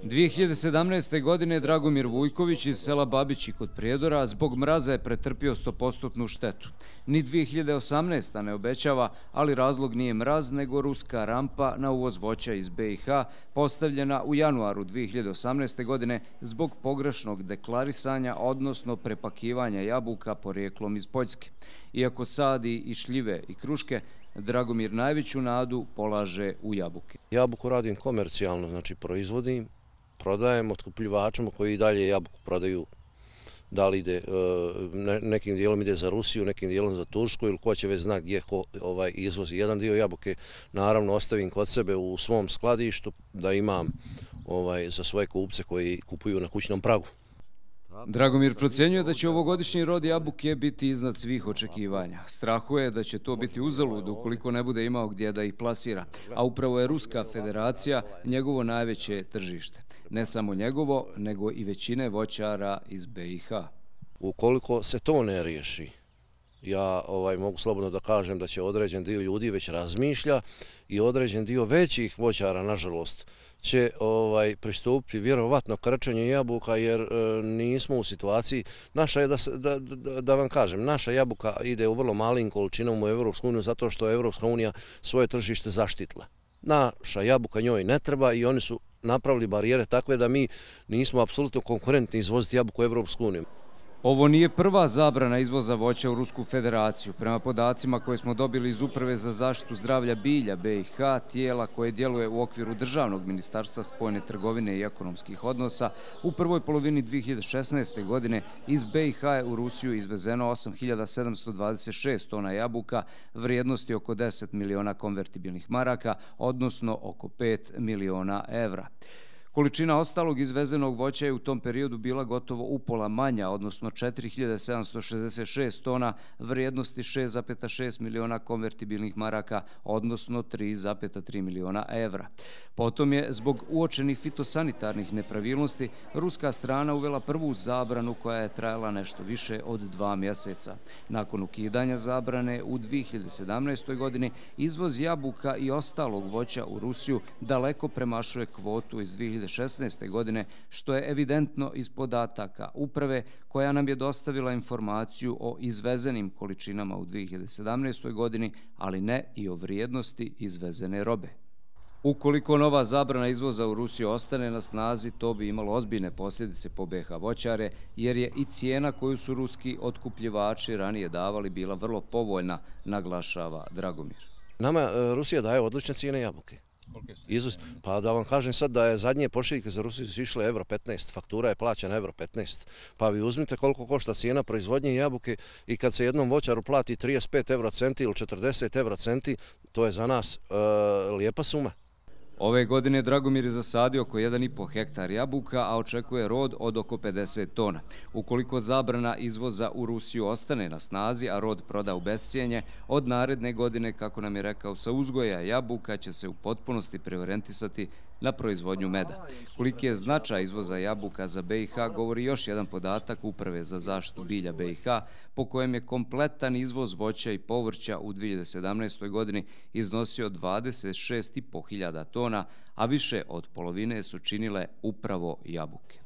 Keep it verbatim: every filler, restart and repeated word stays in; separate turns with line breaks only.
dvije hiljade sedamnaeste. godine Dragomir Vujković iz sela Babići kod Prijedora zbog mraza je pretrpio sto posto štetu. Ni dvije hiljade osamnaeste. ne obećava, ali razlog nije mraz, nego ruska rampa na uvoz voća iz B i H postavljena u januaru dvije hiljade osamnaeste. godine zbog pogrešnog deklarisanja, odnosno prepakivanja jabuka porijeklom iz Poljske. Iako sadi i šljive i kruške, Dragomir najveću nadu polaže u jabuke.
Jabuku radim komercijalno, znači proizvodim, prodajem otkupljivačima koji i dalje jabuku prodaju. Da li ide, nekim dijelom ide za Rusiju, nekim dijelom za Tursku ili ko će već zna gdje ko ovaj izvozi. Jedan dio jabuke naravno ostavim kod sebe u svom skladištu da imam ovaj, za svoje kupce koji kupuju na kućnom pragu.
Dragomir procjenjuje da će ovogodišnji rod jabuke biti iznad svih očekivanja. Strahuje da će to biti uzalud ukoliko ne bude imao gdje da ih plasira, a upravo je Ruska federacija njegovo najveće tržište. Ne samo njegovo, nego i većine voćara iz B i H.
Ukoliko se to ne riješi, ja ovaj, mogu slobodno da kažem da će određen dio ljudi već razmišlja i određen dio većih voćara, nažalost, će ovaj, pristupiti vjerovatno krčenju jabuka jer e, nismo u situaciji, naša je da, da, da, da vam kažem, naša jabuka ide u vrlo malim količinom u Evropsku uniju zato što je Evropska unija svoje tržište zaštitila. Naša jabuka njoj ne treba i oni su napravili barijere takve da mi nismo apsolutno konkurentni izvoziti jabuku u Evropsku uniju.
Ovo nije prva zabrana izvoza voća u Rusku federaciju. Prema podacima koje smo dobili iz Uprave za zaštitu zdravlja bilja B i H, tijela koje djeluje u okviru Državnog ministarstva spoljne trgovine i ekonomskih odnosa, u prvoj polovini dvije hiljade šesnaeste. godine iz B i H je u Rusiju izvezeno osam hiljada sedamsto dvadeset šest tona jabuka vrijednosti oko deset miliona konvertibilnih maraka, odnosno oko pet miliona evra. Količina ostalog izvezenog voća je u tom periodu bila gotovo upola manja, odnosno četiri hiljade sedamsto šezdeset šest tona vrijednosti šest zarez šest miliona konvertibilnih maraka, odnosno tri zarez tri miliona evra. Potom je, zbog uočenih fitosanitarnih nepravilnosti, ruska strana uvela prvu zabranu koja je trajala nešto više od dva mjeseca. Nakon ukidanja zabrane u dvije hiljade sedamnaestoj. godini izvoz jabuka i ostalog voća u Rusiju daleko premašuje kvotu iz dvije hiljade šesnaeste. godine, što je evidentno iz podataka uprave koja nam je dostavila informaciju o izvezenim količinama u dvije hiljade sedamnaestoj. godini, ali ne i o vrijednosti izvezene robe. Ukoliko nova zabrana izvoza u Rusiju ostane na snazi, to bi imalo ozbiljne posljedice po B i H voćare, jer je i cijena koju su ruski otkupljivači ranije davali bila vrlo povoljna, naglašava Dragomir.
Nama Rusija daje odlične cijene jabuke. Izvoz, pa da vam kažem sad da je zadnje pošiljke za Rusiju su išle euro petnaest, faktura je plaćana euro petnaest. Pa vi uzmite koliko košta cijena proizvodnje jabuke i kad se jednom voćaru plati trideset pet euro centi ili četrdeset euro centi, to je za nas e, lijepa suma.
Ove godine Dragomir je zasadio oko jedan i po hektar jabuka, a očekuje rod od oko pedeset tona. Ukoliko zabrana izvoza u Rusiju ostane na snazi, a rod proda u bescijenje, od naredne godine, kako nam je rekao, sa uzgoja jabuka će se u potpunosti preorijentisati na proizvodnju meda. Koliki je značaj izvoza jabuka za B i H govori još jedan podatak Uprave za zaštitu bilja B i H, po kojem je kompletan izvoz voća i povrća u dvije hiljade sedamnaestoj. godini iznosio dvadeset šest i po hiljada tona, a više od polovine su činile upravo jabuke.